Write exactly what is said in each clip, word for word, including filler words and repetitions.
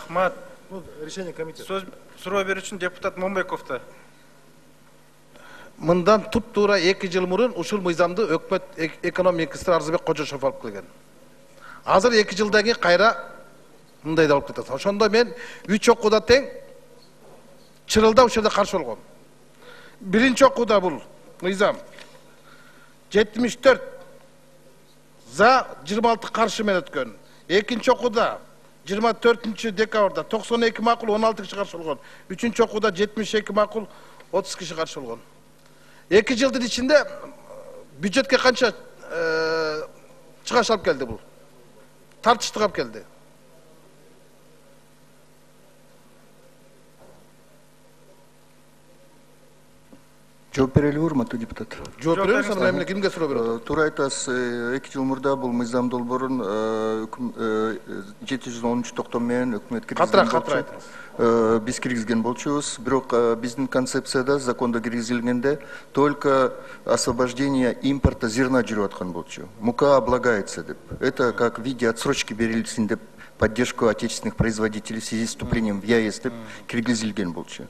Рахмат. Решение комитета. Сөз суроо берүүчү депутат Момбековду. Мындан туп-туура эки жыл мурун ушул мыйзамды өкмөт экономия министри Арзыбек Кожошов алып келген. Азыр эки жылдан кийин кайра мындай да болуп кетет. Ошондо мен үч окууда тең чырылда ушул жерде каршы болгом. Биринчи окууда бул мыйзам жетимиш төрт за жыйырма алты каршы менен өткөн. Экинчи окууда жыйырма төртүнчү декабрда токсон эки макул он алты киши каршы болгон. Үчүнчү окууда жетимиш эки макул отуз киши каршы болгон. эки жылдын ичинде бюджетке канча чыгаш алып келди бул? Тартыштык алып келди. Жооп берели урматтуу депутат. Жооп беребиз, анан эмне кимге суроо берет? Туура айтасыз, эки жыл мурда бул мыйзам долбоорун жети жүз он үч токтом менен өкмөт киргизген болчу. Биз киргизген болчубуз. Бирок биздин концепцияда закондо киргизилгенде только освобождение импорта зерна жүрүп аткан болчу. Мука облагается деп. Это как в виде отсрочки берилсин деп поддержку отечественных производителей в связи с вступлением в ЕАЭС деп киргизилген болчу.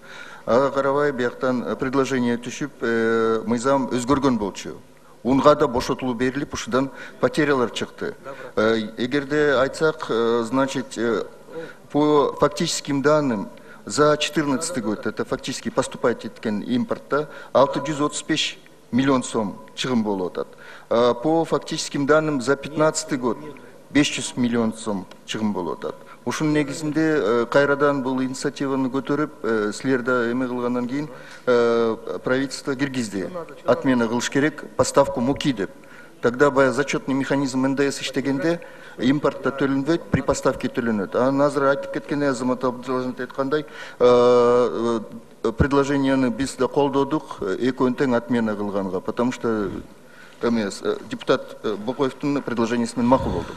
Ага карабай бияктан предложение түшүп, мыйзам өзгөргөн болчу. Унга да бошотулуу берилип, ушудан потерялар чыкты. Эгерде айтсак, значит, по фактическим данным за четырнадцатый год, это фактически поступать эткен импортта алты жүз отуз беш миллион сом чыгым болуп атат. По фактическим данным за пятнадцатый год беш жүз миллион сом чыгым болуп атат. Ушунун негизинде кайрадан бул инициативаны көтөрүп, силер да эме кылгандан кийин правительство киргизди. Отмена кылыш керек, поставку муки деп. Тогда баягы зачетный механизм эн дэ эс иштегенде импортта төлөнбөйт, при поставке төлөнөт. Анан азыр айтып кеткен Азамат Абдуллажанов айткандай, предложенияны биз да колдодук, экөөнү тең отмена кылганга, потому что депутат Бокоевдун предложениясы менен макул болдук.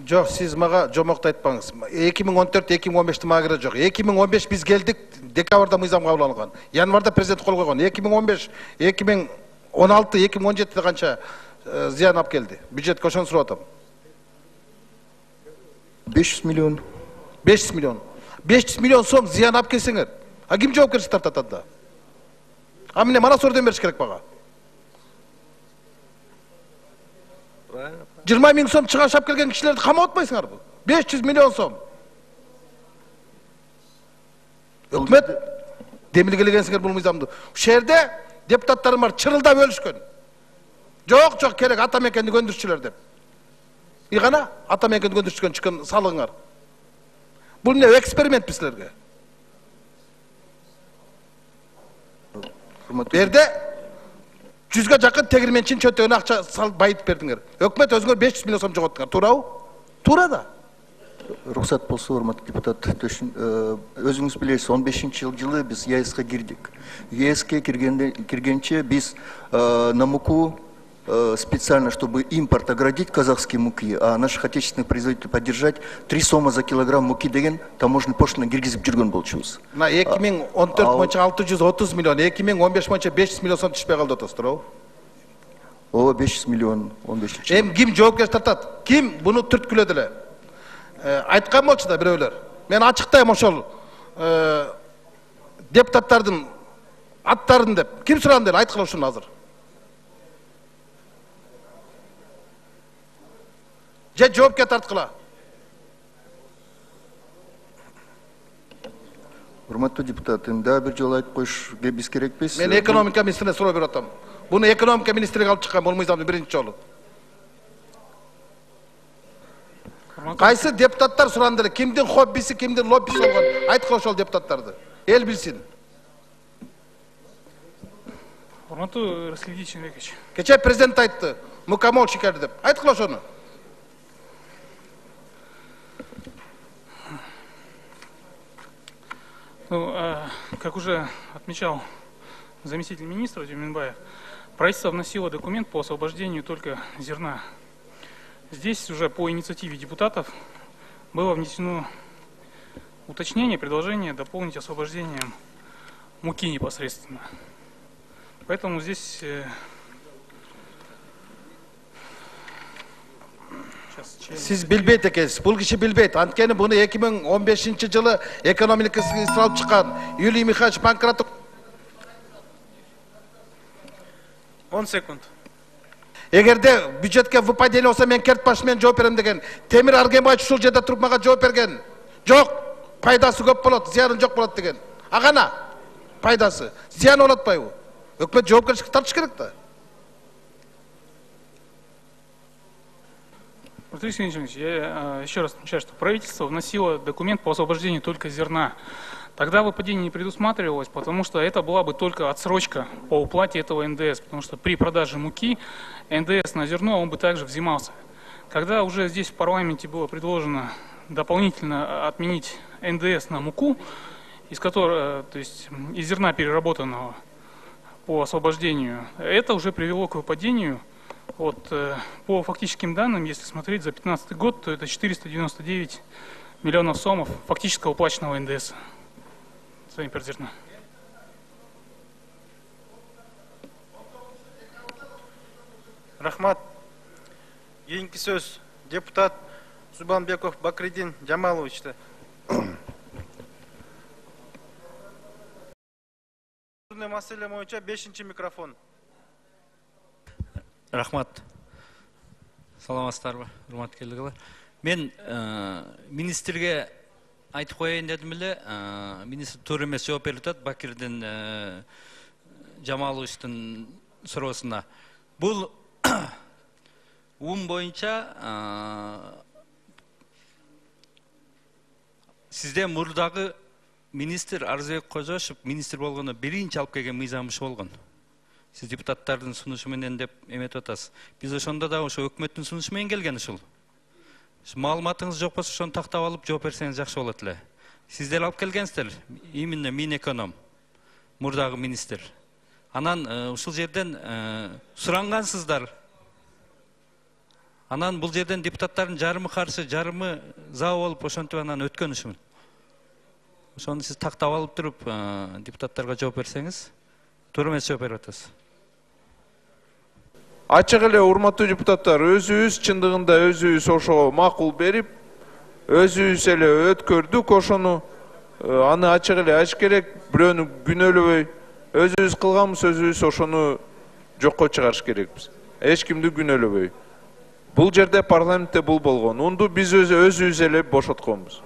Жок, сиз мага жомокту айтпаңыз. эки миң он төрт эки миң он бешти мага кереги жок. эки миң он беш биз келдик, декабрда мыйзам кабыл алынган. Январда президент кол койгон. эки миң он беш, эки миң он алты, эки миң он жетиде канча зыян алып келди? Бюджетке ошону сурап атам. беш жүз миллион. беш жүз миллион. беш жүз миллион сом зыян алып келсеңер, а ким жоопкерчилик тартат анда? А эмне мана сордон бериш керек мага? жыйырма миң сом чыгаш алып келген кишилерди камап атпайсыңарбы? беш жүз миллион сом. Өкмөт демилгелегенсиңер бул мыйзамды. Ушул жерде депутаттарым бар чырылда бөлүшкөн. Жок, жок керек ата мекенди көндүрчүлөр деп. И гана ата мекенди көндүрчүгөн чыккан салыңар. Бул эмне экспериментпи силерге? Берде жүзгө жакын тегирменчин чөтөгүнө акча салып байытып бердиңер. Өкмөт өзүңөр беш жүз миллион сом жоготтуңар. Туурабы? Туура да. Рухсат болсо, урматтуу депутат, өзүңүз билесиз, он бешинчи жылы биз ЕАЭСке кирдик. ЕАЭСке киргенче биз на муку специально, чтобы импорт оградить казахские муки, а наших отечественных производителей поддержать, три сома за килограмм муки деген таможенный пошлина киргизип жүргөн болчубуз. На эки миң он төрт боюнча алты жүз отуз миллион, эки миң он беш боюнча беш жүз миллион сом түшпөй калды атасыз, туурабы? Ооба, беш жүз миллион он бешинчи жылы. Эми ким жоопкерчилик тартат? Ким буну түрткүлөдү эле? Айткан болчу да бирөөлөр. Мен ачыктайм ошол депутаттардын аттарын деп. Ким суранды эле айткыла ушуну азыр? Же жоопке тарткыла. Урматтуу депутат, эми дагы бир жолу айтып коюшка биз керекпиз. Мен экономика министрине суроо берип атам. Буну экономика министрлиги алып чыккан бул мыйзамды биринчи жолу. Кайсы депутаттар суранды эле? Кимдин хоббиси, кимдин лоббиси болгон? Айткыла ошол депутаттарды. Эл билсин. Урматтуу Расул Ильич. Кече президент айтты, мукамол шикерди деп. Айткыла ошону. Ну, как уже отмечал заместитель министра Тюменбаев, правительство вносило документ по освобождению только зерна. Здесь уже по инициативе депутатов было внесено уточнение, предложение дополнить освобождением муки непосредственно. Поэтому здесь Сиз билбейт экенсиз. Бул киши билбейт. Анткени буну эки миң он бешинчи жылы экономика министри алып чыккан Юлий Михайлович Панкратов. он секунд. Эгерде бюджетке выпадение болсо мен керт башы менен жооп берем деген Темир Аргенбаевич ушул жерде туруп мага жооп берген. Жок, пайдасы көп болот, зыяны жок болот деген. А гана пайдасы, зыяны болот атпайбы? Өкмөт жоопкерчиликке тартыш керек да. Алексей Евгеньевич, я еще раз отмечаю, что правительство вносило документ по освобождению только зерна. Тогда выпадение не предусматривалось, потому что это была бы только отсрочка по уплате этого эн дэ эс, потому что при продаже муки эн дэ эс на зерно он бы также взимался. Когда уже здесь в парламенте было предложено дополнительно отменить эн дэ эс на муку, из которого, то есть из зерна переработанного по освобождению, это уже привело к выпадению. Вот, по фактическим данным, если смотреть за две тысячи пятнадцатый год, то это четыреста девяносто девять миллионов сомов фактического уплаченного эн дэ эс. Зерна. Рахмат. Кийинки сөз депутат Субанбеков Бакридин Жамаловичте. Маселе боюнча бешинчи микрофон. Рахмат. Саламатсыздарбы, урматтуулар. Мен министрге айтып коеюн дедим эле, министр туура эмес жооп берип атат Бакирдин Жамаловичтин суроосуна. Бул ум боюнча сизде мурдагы министр Арзыбек Кожошев министр болгондо биринчи алып келген мыйзам ушу болгон. Сиз депутаттардын сунушу менен деп эметип атасыз. Биз ошондо да ошо өкмөттүн сунушу менен келген ушул. Маалыматыңыз жок болсо ошону тактап алып жооп берсеңиз жакшы болот эле. Сиздер алып келгенсиздер, именно Минэконом, мурдагы министр. Анан ушул жерден сурангансыздар. Анан бул жерден депутаттардын жарымы каршы, жарымы за болуп ошентип анан өткөн ушул. Ошону сиз тактап алып туруп депутаттарга жооп берсеңиз, туура эмес жооп берип атасыз. Ачык эле урматтуу депутаттар, өзүбүз чындыгында өзүбүз ошого макул берип, өзүбүз эле өткөрдүк ошону. Аны ачык эле айтыш керек, бирөөнү күнөөлөбөй, өзүбүз кылганбыз, өзүбүз ошону жокко чыгарыш керекпиз. Эч кимди күнөөлөбөй. Бул жерде парламентте бул болгон. Унду биз өзүбүз эле бошотконбуз.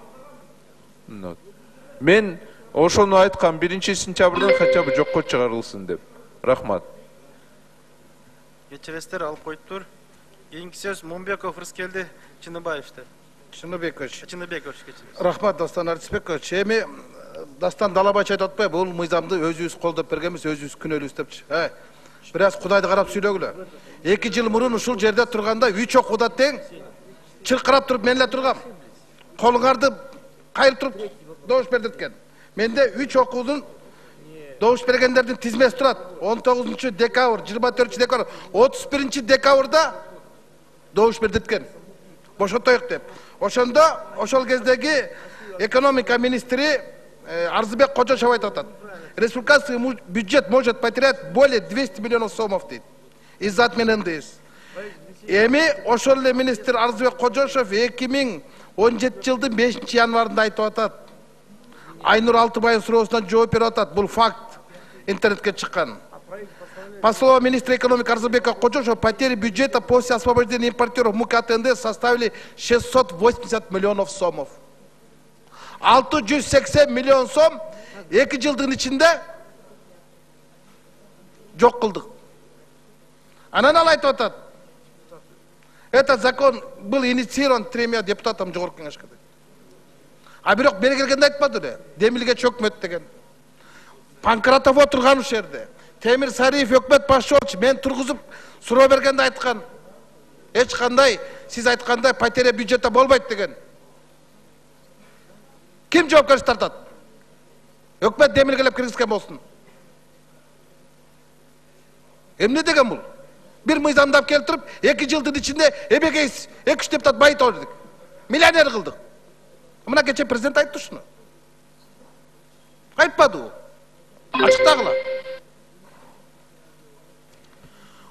Мен ошону айткам, биринчи сентябрдан хотя бы жокко чыгарылсын деп. Рахмат. Кечиресиздер, алып коюптур. Кийинки сөз Момбеков Рыскелди Чыныбаевте. Чыныбекович. Чыныбекович кечиресиз. Рахмат, Дастан Арцбекович. Эми Дастан Далабач айтып атпайбы, бул мыйзамды өзүбүз колдоп бергенбиз, өзүбүз күнөөлүбүз депчи. Э, бир аз Кудайды карап сүйлөгүлө. эки жыл мурун ушул жерде турганда үч окууда тең чыркырап туруп мен эле тургам. Колуңарды кайрып туруп добуш бер деткен. Менде үч окуудун добуш бергендердин тизмеси турат. он тогузунчу декабрь, жыйырма төртүнчү декабрь, отуз биринчи декабрда добуш бер деткен. Бошотоюк деп. Ошондо ошол кездеги экономика министри Арзыбек Кожошев айтып атат. Республиканский бюджет может потерять более двухсот миллионов сомов дейт. Из-за отмены эн дэ эс. Эми ошол эле министр Арзыбек Кожошев эки миң он жетинчи жылдын бешинчи январында айтып атат. Айнур Алтыбаев суроосуна жооп берип атат. Бул факт. Интернетке чыккан. По словам министра экономики Арзыбека Кожошева, потери бюджета после освобождения импортеров муки от эн дэ эс составили шестьсот восемьдесят миллионов сомов. алты жүз сексен миллион сом эки жылдын ичинде жок кылдык. Анан ал айтып атат. Этот закон был инициирован тремя депутатами жогорку кеңешке. А бирок бери келгенде айтпады эле. Демилге чөкмөт деген. Панкратов отурган ушул жерде. Темир Сариев өкмөт башчы болчу. Мен тургузуп суроо бергенде айткан. Эч кандай сиз айткандай потеря бюджета болбойт деген. Ким жоопкерчилик тартат? Өкмөт демилгелеп киргизген болсун. Эмне деген бул? Бир мыйзамдап келтирип, эки жылдын ичинде эбегей эки үч депутат байытып алдык. Миллионер кылдык. Мына кече президент айтты ушуну. Айтпады бул. Ачыктагыла.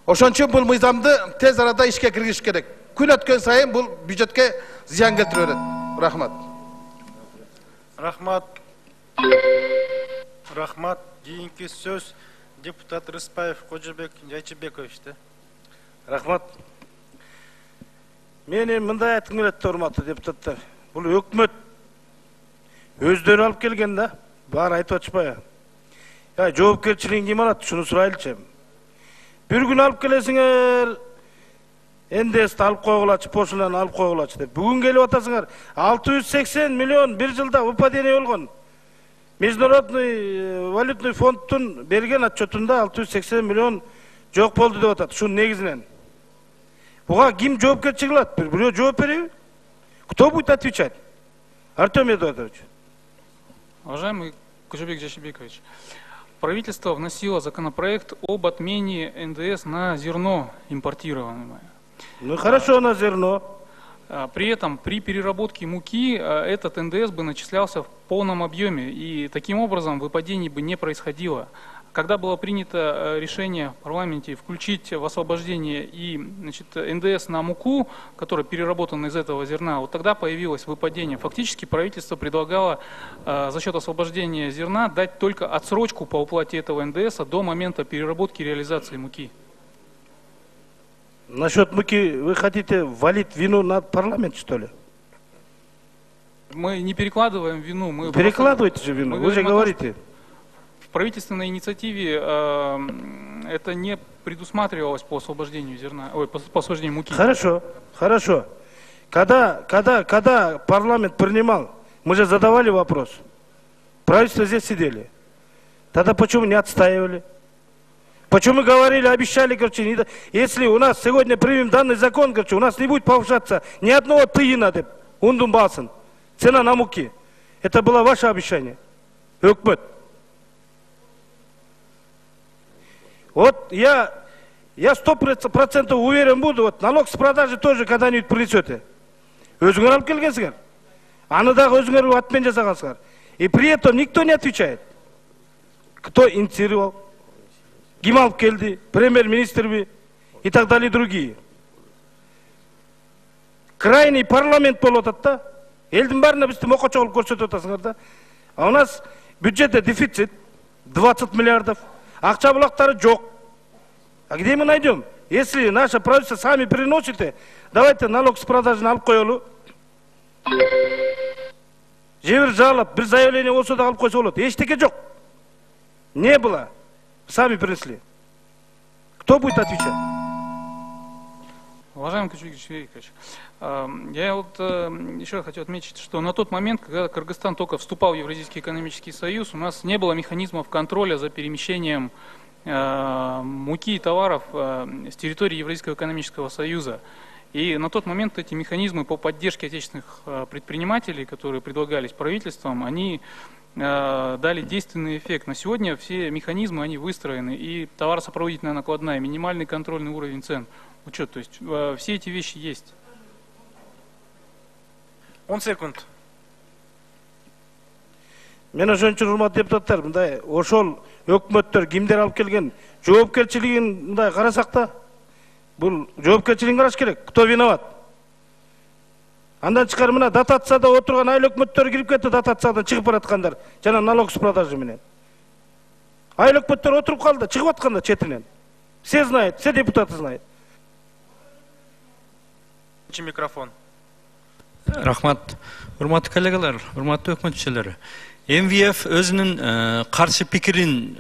Ошон үчүн бул мыйзамды тез арада ишке киргизиш керек. күн өткөн сайын бул бюджетке зыян келтире берет. Рахмат. Рахмат. Рахмат. Кийинки сөз депутат Рыспаев Кожобек Жайчыбековичте. Рахмат. Мен эми мындай айткым келет, урматтуу депутаттар. Бул өкмөт өздөрү алып келген да, баары айтып атышпайбы? Я жоопкерчилигин ким алат, шуну сурайлычы. Бир күн алып келесиңер, эн дэ эсти алып койгулачы, пошлинаны алып койгулачы деп. Бүгүн келип атасыңар, алты жүз сексен миллион бир жылда выпадение болгон. Международный валютный фондтун берген отчетунда алты жүз сексен миллион жок болду деп атат. Шунун негизинен. Буга ким жоопкерчилик алат? Бирөө жооп береби? Кто будет отвечать? Артем Эдуардович. Уважаемый Кожобек Жайчыбекович, правительство вносило законопроект об отмене эн дэ эс на зерно импортируемое. Ну хорошо, на зерно. При этом при переработке муки этот эн дэ эс бы начислялся в полном объеме, и таким образом выпадений бы не происходило. Когда было принято решение в парламенте включить в освобождение и, значит, эн дэ эс на муку, которая переработана из этого зерна, вот тогда появилось выпадение. Фактически правительство предлагало э, за счет освобождения зерна дать только отсрочку по уплате этого эн дэ эса до момента переработки и реализации муки. Насчет муки вы хотите валить вину на парламент, что ли? Мы не перекладываем вину. Мы Перекладываете же вину, вы же говорите. В правительственной инициативе э, это не предусматривалось по освобождению зерна, ой, по, по освобождению муки. Хорошо, хорошо. Когда, когда, когда парламент принимал, мы же задавали вопрос. Правительство здесь сидели. Тогда почему не отстаивали? Почему говорили, обещали, короче, не, если у нас сегодня примем данный закон, короче, у нас не будет повышаться ни одного тыйына, деп, ундум басын, цена на муки. Это было ваше обещание. Өкмөт. Вот я, я сто процентов уверен буду, вот налог с продажи тоже когда-нибудь принесете. Өзүңөр алып келгенсиңер. Аны дагы өзүңөр атмен жасагансыңар. И при этом никто не отвечает. Кто инициировал? Ким алып келди? Премьер-министр би? И так далее, и другие. Крайний парламент болуп атат да. Элдин баарына бизди мокочо кылып көрсөтүп атасыңар да. А у нас бюджетте дефицит двадцать миллиардов. Акча булактары жок. А где мы найдем? Если наше правительство сами приносите, давайте налог с продажи алып коелу. Же бир жалоб, бир заявление болсо да алып койсо болот. Эчтеке жок. Не было. Сами принесли. Кто будет отвечать? Уважаемый Кожобек Жайчыбекович, я вот еще раз хочу отметить, что на тот момент, когда Кыргызстан только вступал в Евразийский экономический союз, у нас не было механизмов контроля за перемещением муки и товаров с территории Евразийского экономического союза. И на тот момент эти механизмы по поддержке отечественных предпринимателей, которые предлагались правительством, они дали действенный эффект. На сегодня все механизмы, они выстроены, и товаросопроводительная накладная, минимальный контрольный уровень цен, учет, то есть все эти вещи есть. он секунд. Мен ошон үчүн урматтуу депутаттар, мындай ошол өкмөттөр кимдер алып келген жоопкерчилигин мындай карасак да, бул жоопкерчилигин караш керек. Кто виноват? Андан чыкар мына дотацияда отурган айыл өкмөттөр кирип кетти, дотациядан чыгып бараткандар, жана налог с продажи менен. Айыл өкмөттөр отуруп калды, чыгып аткандар четинен. Все знают, все депутаты знают. Микрофон. Рахмат. Урматтуу коллегалар, урматтуу өкмөт мүчөлөрү. эм вэ эф өзүнүн каршы пикирин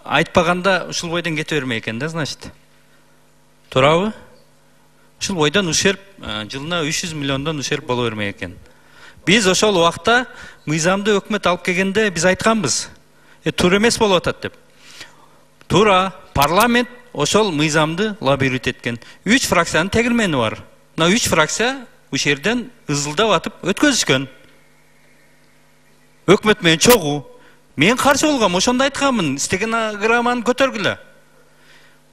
айтпаганда ушул бойдон кете бермей экен да, значит. Туурабы? Ушул бойдон ушерп жылына үч жүз миллиондон ушерп боло бермей экен. Биз ошол убакта мыйзамды өкмөт алып келгенде биз айтканбыз. Э туура эмес болуп атат деп. Туура, парламент ошол мыйзамды лоббировать эткен. үч фракциянын тегилмени бар. Мына үч фракция ушул жерден ызылдап атып өткөзүшкөн. Өкмөт менен чогуу. Мен каршы болгом, ошондо айтканмын, стенограмманы көтөргүлө.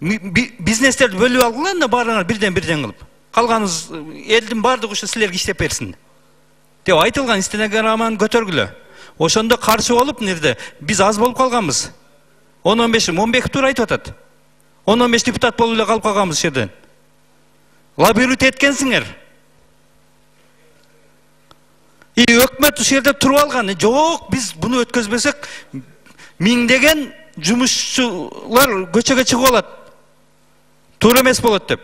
Бизнестерди бөлүп алгыла, да баарыңар бирден бирден кылып. Калганыңыз элдин баардыгы ушу силерге иштеп берсин деп айтылган стенограмманы көтөргүлө. Ошондо каршы болуп, нерде биз аз болуп калганбыз. он он беш Момбеков туура айтып атат. он он беш депутат болуп эле калып калганбыз ушул жерден. лоббировать эткенсиңер. И өкмөт ушул жерде туруп алган. Жок, биз буну өткөзбөсөк миңдеген жумушчулар көчөгө чыгып алат. Туура эмес болот деп.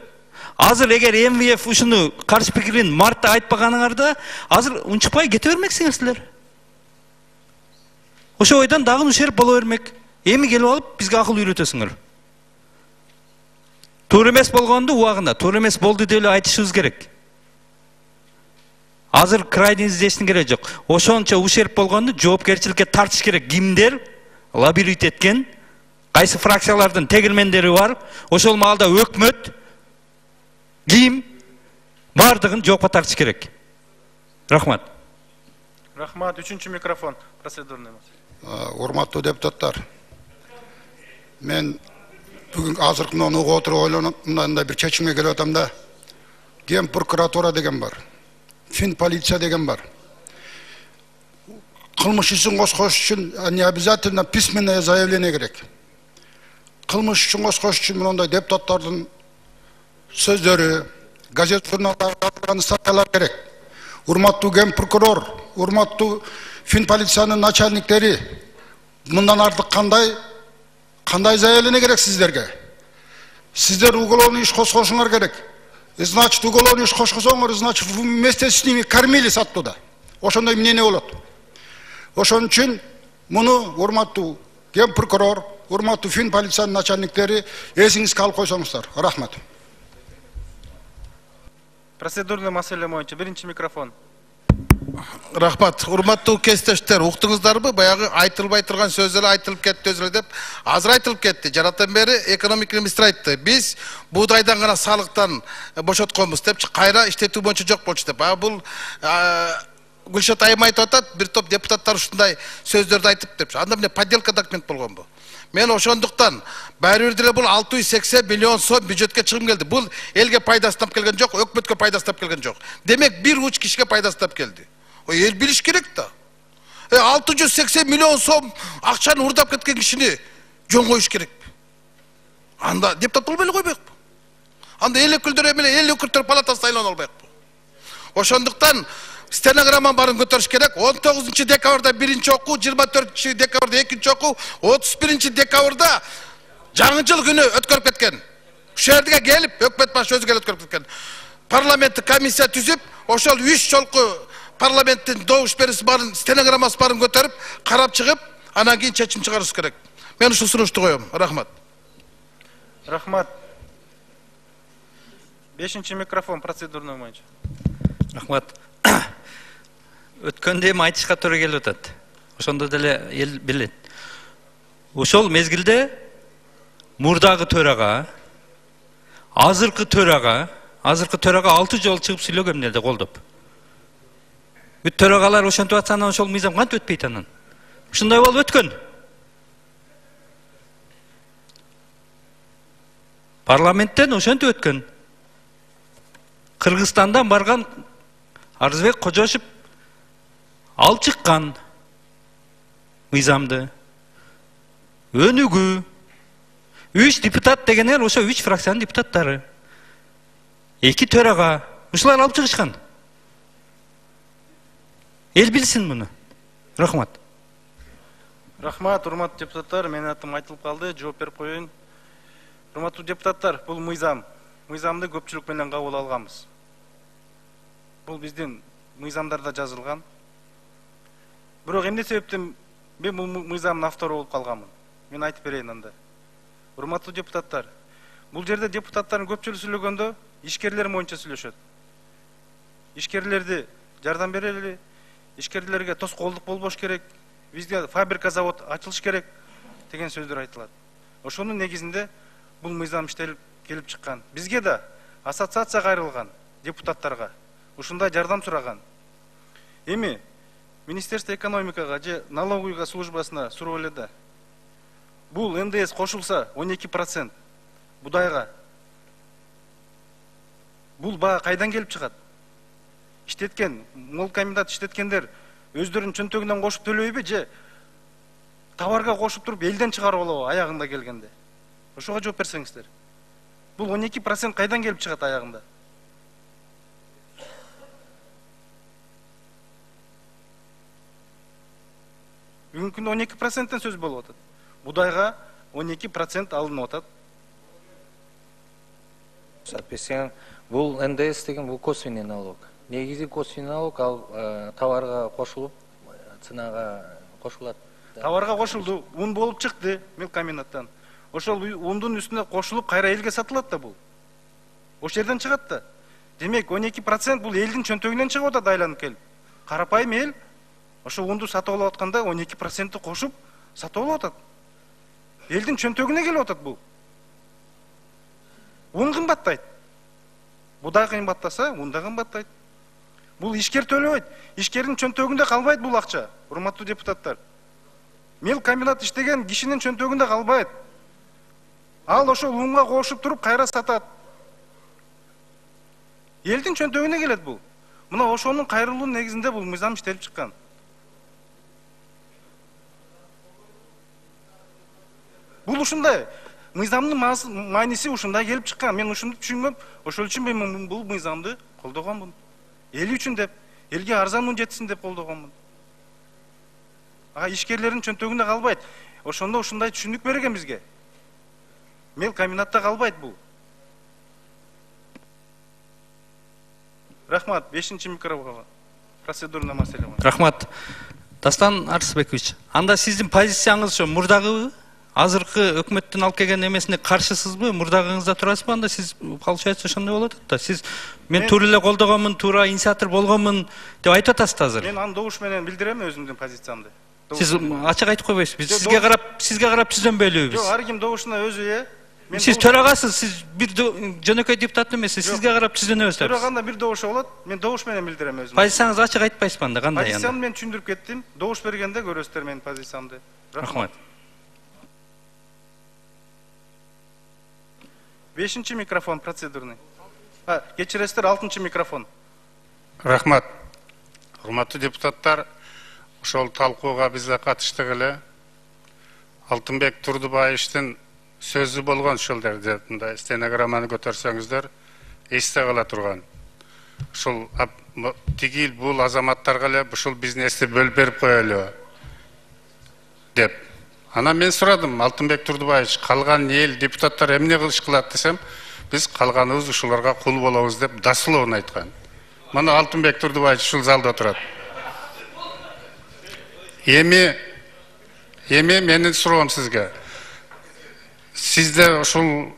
Азыр эгер эм вэ эф ушуну каршы пикирин мартта айтпаганыңарда, азыр унчукпай кете бермексиңер силер. Ошо ойдон дагы ушер боло бермек. Эми келип алып бизге акыл үйрөтөсүңөр. Туура эмес болгонду убагында, туура эмес болду деп эле айтышыбыз керек. Азыр крайний издештин кереги жок. Ошончо ушерп болгонду жоопкерчиликке тартыш керек. Кимдер лоббировать эткен, кайсы фракциялардын тегилмендери бар, ошол маалда өкмөт ким бардыгын жоопко тартыш керек. Рахмат. Рахмат. Үчүнчү микрофон. Процедурный. Урматтуу депутаттар, мен бүгүн азыркы угуп отуруп ойлонуп бир чечимге келип атам да. Ген прокуратура деген бар, фин полиция деген бар. Кылмыш ишин козгош үчүн не обязательно письменное заявление керек. Кылмыш ишин козгош үчүн мындай депутаттардын сөздөрү, газет журналдардын статьялары керек. Урматтуу ген прокурор, урматтуу фин полициянын начальниктери, мындан артык кандай кандай заявление керек сиздерге? Сиздер уголовный иш козгошуңар керек. Значит, уголовный иш козгосоңор, значит, вместе с ними кормились оттуда. Ошондой мнение болот. Ошон үчүн муну урматтуу ген прокурор, урматтуу фин полициянын начальниктери эсиңизге алып койсоңуздар. Рахмат. Процедурный маселе боюнча биринчи микрофон. Рахмат. Урматтуу кесиптештер, уктуңуздарбы? Баягы айтылбай турган сөздөр айтылып кетти өзүлө деп. Азыр айтылып кетти. Жараттан бери экономика министри айтты. Биз буудайдан гана салыктан бошотконбуз деп, кайра иштетүү боюнча жок болчу деп. А бул Гүлшат айым айтып атат, бир топ депутаттар ушундай сөздөрдү айтып деп. Анда эмне подделка документ болгонбу? Мен ошондуктан баары бир деле бул алты жүз сексен миллион сом бюджетке чыгым келди. Бул элге пайдасынан келген жок, өкмөткө пайдасынан келген жок. Демек бир уч кишиге пайдасынан келди. Ой, эл билиш керек да. алты жүз сексен миллион сом акчаны урдап кеткен кишини жөн коюш керек. Анда депутат болбой эле койбойкпу? Анда эл өкүлдөрү менен эл өкүлдөр палатасы сайланып албайкпы? Ошондуктан стенограмма барын көтөрүш керек. он тогузунчу декабрда биринчи окуу, жыйырма төртүнчү декабрда экинчи окуу, отуз биринчи декабрда жаңы жыл күнү өткөрүп кеткен. Ушул жерге келип, өкмөт башы өзү келип өткөрүп кеткен. Парламенттик комиссия түзүп, ошол үч жолку парламенттин добуш берүүсү барын, стенограммасы барын көтөрүп, карап чыгып, анан кийин чечим чыгарыш керек. Мен ушул сунушту коем. Рахмат. Рахмат. бешинчи микрофон процедурный боюнча. Рахмат. Өткөндө эми айтышка туура келип атат. Ошондо деле эл билет. Ошол мезгилде мурдагы төрага, азыркы төрага, азыркы төрага алты жолу чыгып сүйлөгөн эмнеде колдоп. Бүт төрагалар ошентип атса анан ошол мыйзам кантип өтпөйт анан? Ушундай болуп өткөн. Парламенттен ошентип өткөн. Кыргызстандан барган Арзыбек Кожошев алып чыккан мыйзамды. Өнүгүү. Үч депутат дегенер ошо үч фракциянын депутаттары. Эки төрага ушулар алып чыгышкан. Эл билсин муну. Рахмат. Рахмат, урматтуу депутаттар, менин атым айтылып калды, жооп берип коеюн. Урматтуу депутаттар, бул мыйзам, мыйзамды көпчүлүк менен кабыл алганбыз. Бул биздин мыйзамдарда жазылган. Бирок эмне себептен мен бул мыйзамдын автору болуп калганмын? Мен айтып берейин анда. Урматтуу депутаттар, бул жерде депутаттардын көпчүлүгү сүйлөгөндө ишкерлер боюнча сүйлөшөт. Ишкерлерди жардам берели, ишкерлерге тоскоолдук болбош керек, бизде фабрика, завод ачылыш керек деген сөздөр айтылат. Ошонун негизинде бул мыйзам иштелип келип чыккан. Бизге да ассоциация кайрылган депутаттарга ушундай жардам сураган. Эми Министерство экономикага же налоговый службасына сурап эле да. Бул эн дэ эс кошулса он эки процент будайга. Бул баа кайдан келип чыгат? Иштеткен, мол комбинат иштеткендер өздөрүнүн чөнтөгүнөн кошуп төлөйбү же товарга кошуп туруп элден чыгарып алабы аягында келгенде? Ошого жооп берсеңиздер. Бул он эки процент кайдан келип чыгат аягында? Бүгүнкү күндө он эки проценттен сөз болуп атат. Будайга он эки процент алынып атат. Соответственно, бул эн дэ эс деген бул косвенный налог. Негизи косвенный налог ал товарга кошулуп, ценага кошулат. Товарга кошулду, ун болуп чыкты мелкомбинаттан. Ошол ундун үстүнө кошулуп кайра элге сатылат да бул. Ошол жерден чыгат да. Демек он эки процент бул элдин чөнтөгүнөн чыгып атат айланып келип. Карапайым эл ошол унду сатып алып атканда он эки процентти кошуп сатып алып атат. Элдин чөнтөгүнө келип атат бул. Un кымбаттайт. Будай кымбаттаса, ун да кымбаттайт. Бул ишкер төлөбөйт. Ишкердин чөнтөгүндө калбайт бул акча, урматтуу депутаттар. Мел комбинат иштеген кишинин чөнтөгүндө калбайт. Ал ошол унга кошуп туруп кайра сатат. Элдин чөнтөгүнө келет бул. Мына ошонун кайрылуунун негизинде бул мыйзам иштелип чыккан. Бул ушундай. Мыйзамдын мааниси ушундай келип чыккан. Мен ушуну түшүнгөм. Ошол үчүн мен бул мыйзамды колдогонмун. Эл үчүн деп, элге арзан ун жетсин деп колдогонмун. Ага ишкерлердин чөнтөгүндө калбайт. Ошондо ушундай түшүнүк берген бизге. Мел комбинатта калбайт бул. Рахмат, бешинчи микрофонго. Процедурный маселе. Рахмат. Дастан Арсбекович, анда сиздин позицияңыз ошо мурдагы азыркы өкмөттүн алып келген эмесине каршысызбы? Мурдагыңызда турасызбы? Анда сиз получается ошондой болот да. Сиз мен туура эле колдогонмун, туура инициатор болгонмун деп айтып атасыз азыр. Мен аны добуш менен билдирем өзүмдүн позициямды. Сиз ачык айтып койбойсузбу? Биз сизге карап, сизге карап түзөнбөйлүбүз. Жок, ар ким добушуна өзү э. Сиз төрагасыз, сиз бир жөнөкөй депутат эмессиз, сизге карап түзөнөбүз. Төраганда бир добуш болот, мен добуш менен билдирем өзүм. Позицияңызды ачык айтпайсызбы анда, кандай анда? Позициямды мен түшүндүрүп кеттим. Добуш бергенде көрөсүздөр менин позициямды. Рахмат. Бешинчи микрофон процедурный. А, кечиресиздер, алтынчы микрофон. Рахмат. Урматтуу депутаттар, ошол талкууга биз да катыштык эле. Алтынбек Турдубаевичтин сөзү болгон ушул жерде, мындай стенограмманы көтөрсөңүздөр, эсте кала турган. Ушул тигил бул азаматтарга эле ушул бизнести бөлүп берип коелу деп. Ана мен сурадым, Алтынбек Турдубаевич, калган эл депутаттар эмне кылыш кылат десем, биз калганыбыз ушуларга кул болобуз деп даслоон айткан. Мына Алтынбек Турдубаевич ушул залда отурат. Эми эми менин суроом сизге. Сизде ушул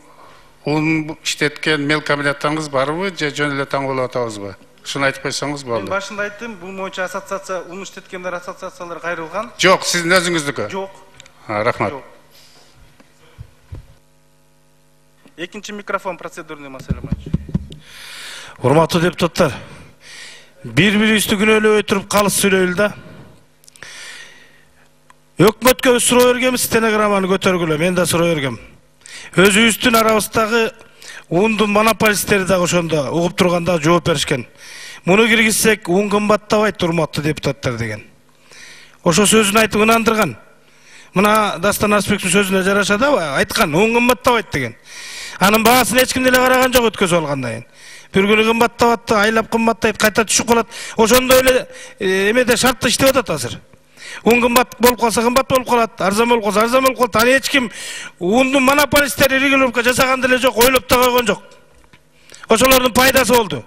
ун иштеткен мел комбинаттарыңыз барбы, же жөн эле таң болуп атабызбы? Ушуну айтып койсоңуз болду. Мен башында айттым, бул боюнча ассоциация, ун иштеткендер ассоциациялары кайрылган. Жок, сиздин өзүңүздүкү. Жок. Рахмат. Экинчи микрофон, процедурный маселе боюнча. Урматтуу депутаттар, бири-бирибизди күнөөлөбөй туруп калыс сүйлөйлү да. Өкмөткө суроо бергенбиз, стенограмманы көтөргүлө, мен да суроо бергем. Өзүбүздүн арабыздагы ундун монополисттери дагы ошондо угуп турганда жооп беришкен. Муну киргизсек, ун кымбаттабайт, урматтуу депутаттар деген. Ошо сөзүн айтып ынандырган. Мына Дастан Арсбековдун сөзүнө жараша да айткан, ун кымбаттабайт деген. Анын баасын эч ким деле караган жок өткөзүп алгандан кийин. Бир күнү кымбаттап атты, айлап кымбаттайт, кайта түшүп калат. Ошондой эле эмеде шартта иштеп атат азыр. Un кымбат болуп калса кымбат болуп калат, арзан болуп калса арзан болуп калат. Аны эч ким ундун монополисттери регулировка жасаган деле жок, ойлоп да койгон жок. Ошолордун пайдасы болду.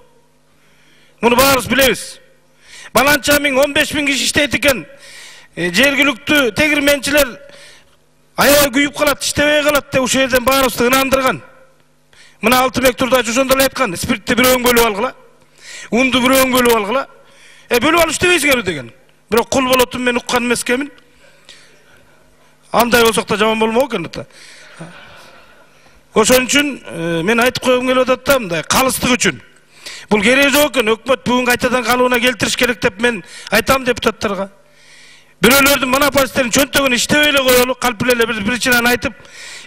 Муну баарыбыз билебиз. Баланча миң, он беш миң киши иштейт экен. Жергиликтүү тегирменчилер аябай күйүп калат, иштебей калат деп ушул жерден баарыбызды ынандырган. Мына Алтынбек Турдубаевич ошондой эле айткан, спиртти бирөөң бөлүп алгыла, унду бирөөң бөлүп алгыла. Э бөлүп алып иштебейсиңерби деген. Бирок кул болотун мен уккан эмескенмин. Андай болсок да жаман болмок экен да. Ошон үчүн мен айтып койгум келип атат да, мындай калыстык үчүн. Бул кереги жок экен, өкмөт бүгүн кайтадан калыбына келтириш керек деп мен айтам депутаттарга. Бирөөлөрдүн монополисттердин чөнтөгүнө иштебей эле коелу, калп эле бир причинаны айтып,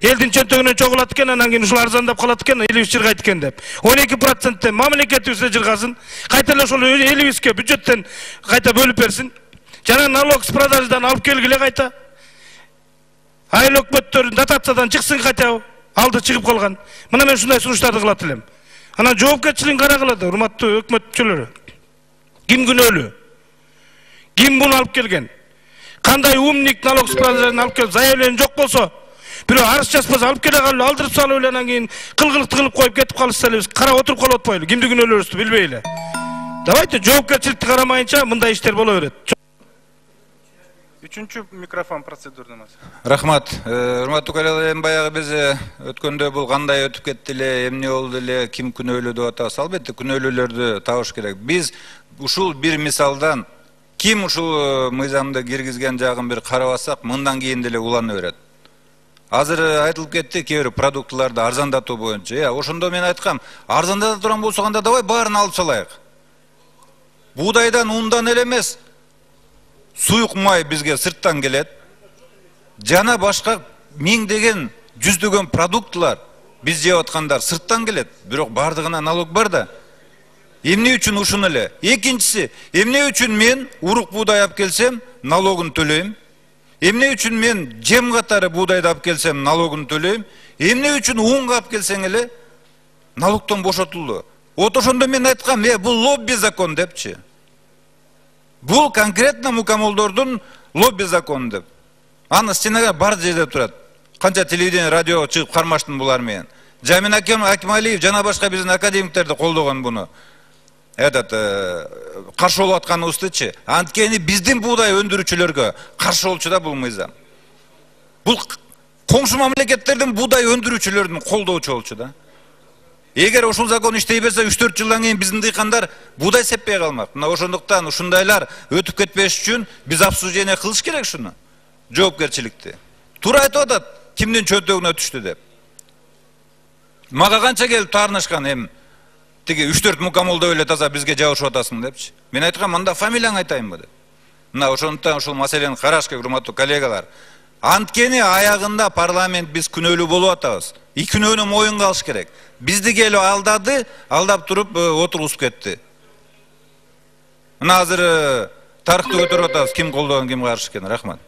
элдин чөнтөгүнөн чогулат экен, анан кийин ушул арзандап калат экен, элибиз жыргайт экен деп. он эки проценттен мамлекетибизде жыргасын, кайта эле ошол элибизге бюджеттен кайта бөлүп берсин. Жана налог с продажадан алып келгиле кайта. Айыл өкмөттөрүн дотациядан чыксын кайта. Алды чыгып калган. Мына мен ушундай сунуштарды кылат элем. Анан жоопкерчилигин карагыла да, урматтуу өкмөт мүчөлөрү. Ким күнөөлүү? Ким буну алып келген? кандай умник налог справкасын алып келип заявление жок болсо, бирөө арыз жазбаса алып келе калып алдырып салып эле анан кийин кылгылыкты кылып коюп кетип калышса эле биз карап отуруп калып атпайлы, кимди күнөөлөөрүбүздү билбей эле. Давайте жоопкерчиликти карамайынча мындай иштер боло берет. Үчүнчү микрофон процедурдамыз. Рахмат. Урматтуу коллегалар, эми баягы биз өткөндө бул кандай өтүп кетти эле, эмне болду эле, ким күнөөлүү деп атабыз. Албетте күнөөлүүлөрдү табыш керек. Биз ушул бир мисалдан ким ушул мыйзамды киргизген жагын бир карабасак, мындан кийин деле улана берет. Азыр айтылып кетти кээ бир продуктыларды арзандатуу боюнча. Э, ошондо мен айткам, арзандата турган болсо анда давай баарын алып салайык. Буудайдан, ундан эле эмес, суюк май бизге сырттан келет. Жана башка миңдеген, жүздөгөн продуктылар биз жеп аткандар сырттан келет. Бирок бардыгына налог бар да. Эмне үчүн ушуну эле? Экинчиси, эмне үчүн мен урук буудай алып келсем, налогун төлөйм? Эмне үчүн мен жем катары буудайды алып келсем, налогун төлөйм? Эмне үчүн унга алып келсең эле, налогтон бошотулду? Вот ошондо мен айткам, э, бул лобби закон депчи. Бул конкретно мукамолдордун лобби закону деп. Аны стенага бар жерде турат. Канча телевидение, радио чыгып кармаштым булар менен. Жамин Акималиев жана башка биздин академиктерди колдогон буну. Этот каршы болуп атканыбыздычы. Анткени биздин буудай өндүрүүчүлөргө каршы болчу да бул мыйзам. Бул коңшу мамлекеттердин буудай өндүрүүчүлөрүн колдоочу болчу да. Эгер ушул закон иштей берсе, үч төрт жылдан кийин биздин дыйкандар буудай сеппей калмак. Мына ошондуктан ушундайлар өтүп кетпеш үчүн биз обсуждение кылыш керек шуну. Жоопкерчиликти. Туура айтып атат, кимдин чөнтөгүнө түштү деп. Мага канча келип таарынышкан эми тиги үч төрт мукамолдо эле таза бизге жабышып атасың депчи. Мен айткам, анда фамилияң айтайынбы деп. Мына ошондуктан ушул маселени караш керек, урматтуу коллегалар. Анткени аягында парламент биз күнөөлүү болуп атабыз. И күнөөнү моюнга алыш керек. Бизди келип алдады, алдап туруп отургузуп кетти. Мына азыр тарыхты көтөрүп атабыз, ким колдогон, ким каршы экенин. Рахмат.